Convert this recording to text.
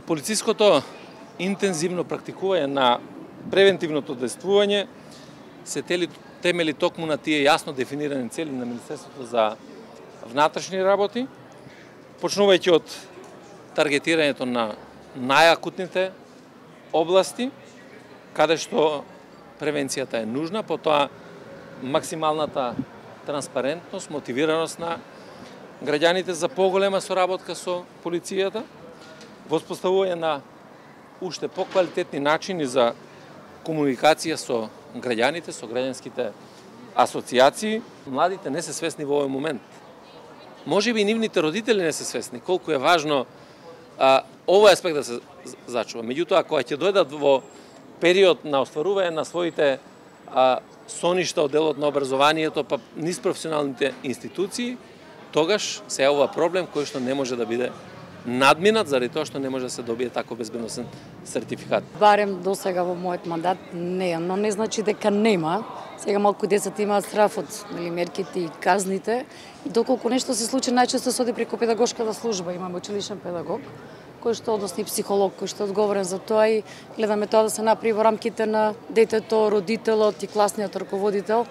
Полициското интензивно практикување на превентивното действување се темели токму на тие јасно дефинирани цели на Министерството за внатрешни работи, почнувајќи од таргетирањето на најакутните области, каде што превенцијата е нужна, потоа максималната транспарентност, мотивираност на граѓаните за поголема соработка со полицијата, воспоставување на уште поквалитетни начини за комуникација со граѓаните, со граѓанските асоциации. Младите не се свесни во овој момент. Можеби и нивните родители не се свесни колку е важно овој аспект да се зачува. Меѓутоа, кога ќе дојдат во период на остварување на своите соништа од делот на образованието, па низ професионалните институции, тогаш се јавува проблем кој што не може да биде надминат заради тоа што не може да се добие тако безбедносен сертификат. Барем до сега во мојот мандат не, но не значи дека нема. Сега малку децата имаат страф од мерките и казните и доколку нешто се случи, најчесто се оди преку педагошката служба. Имаме училишен педагог кој што, односно и психолог кој што е одговорен за тоа и гледаме тоа да се направи во рамките на детето, родителот и класниот раководител,